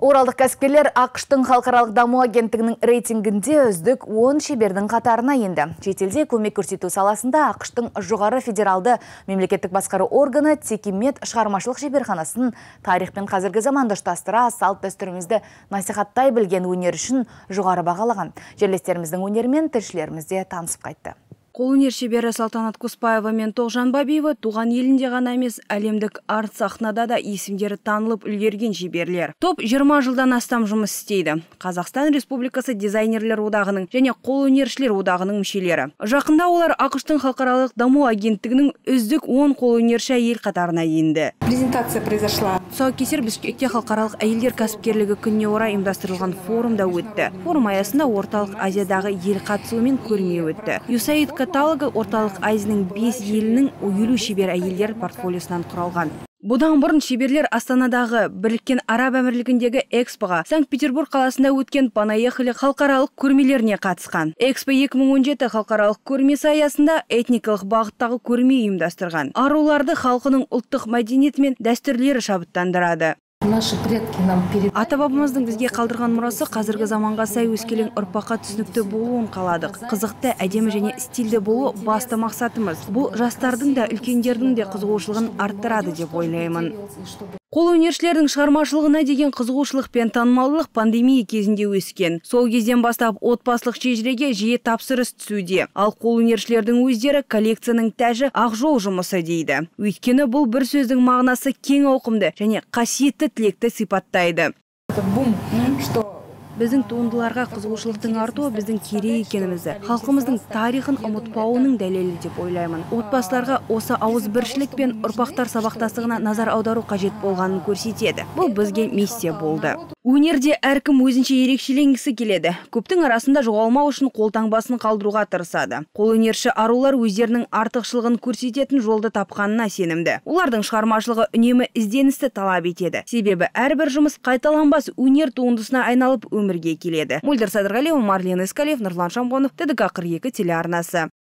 Оралдық кәсіпкерлер ақштың халықаралық даму агенттігінің рейтингінде үздік 10 шебердің қатарына енді. Шетелде көмек көрсету саласында ақштың жоғары федералды мемлекеттік басқару органы Текемет шығармашылық шеберханасын тарих пен қазіргі заманды ұштастыра салт дәстүрімізді насихаттай білген өнер үшін жоғары бағалаған. Жерлестеріміздің өнерімен тілшілеріміз де танысып қайтты. Қолөнер шебері Салтанат Құспаева мен Тоғжан Бабиева туған елінде ғана емес, әлемдік арт сахнада да есімдері танылып үлгерген шеберлер. Топ 20 жылдан астам жұмыс істейді. Қазақстан Республикасы дизайнерлер одағының және қолөнершілер одағының мүшелері. Жақында олар ақштың халықаралық даму агенттігінің үздік 10 қолөнерші әйел қатарына енді. Презентация произошла. Тұсаукесер Бішкекте халықаралық әйелдер кәсіпкерлігі күніне орай ұйымдастырылған форумда өтті. Форум аясында орталық Азиядағы ел қатысуымен көрме өтті. USAID каталогы орталық Азияның 5 елінің 50 шебер әйелдер портфолиосынан құралған. Бұдан бұрын шеберлер Астанадағы Біріккен Араб Әмірлігіндегі экспоға, Санкт-Петербург қаласында өткен Понаехали халықаралық көрмелеріне қатысқан. Экспо 2017 халықаралық көрмесі аясында этникалық бағыттағы көрме ұйымдастырған. Аруларды халқының ұлттық мәдениеті мен дәстүрлері шабыттандырады. Наши предки нам Ата-бабамыздың бізге қалдырған мұрасы қазіргі заманға сай өскелең ұрпаққа түсінікті болуын қаладық. Қызықты, әдемі және стильді болу басты мақсатымыз. Бұл жастардың да, үлкендердің де қызығушылығын арттырады деп ойлаймын. Қолөнершілердің шығармашылығына деген қызығушылық пен танымалдылық пандемия кезінде өскен. Сол кезден бастап отбасылық шежіреге жиі тапсырыс түсуде. Ал қолөнершілердің өздері коллекцияның тәжі ақ жол жұмысы дейді. Өйткені бұл бір сөздің мағынасы кең ауқымды және қасиетті тілекті сипаттайды. Біздің туындыларға қызығушылықтың артуы біздің керек екенімізді, халқымыздың тарихын ұмытпауының дәлелі деп ойлаймын. Отбасыларға осы ауызбіршілік пен ұрпақтар сабақтастығына назар аудару қажет болғанын көрсетеді. Бұл бізге миссия болды. Өнерде әркім өзінше ерекшеленгісі келеді. Көптің арасында жоғалмау үшін қолтаңбасын қалдыруға тырысады. Қолөнерші арулар өздерінің артықшылығын көрсететін жолды тапқанына сенімді. Олардың шығармашылығы үнемі ізденісті талап етеді. Себебі әрбір жұмыс қайталанбас өнер туындысына айналып өмірге келеді. Мөлдір Садырғалиева, Марлен Искалиев, Нұрлан Шамбонов, ТДК 42 телеарнасы.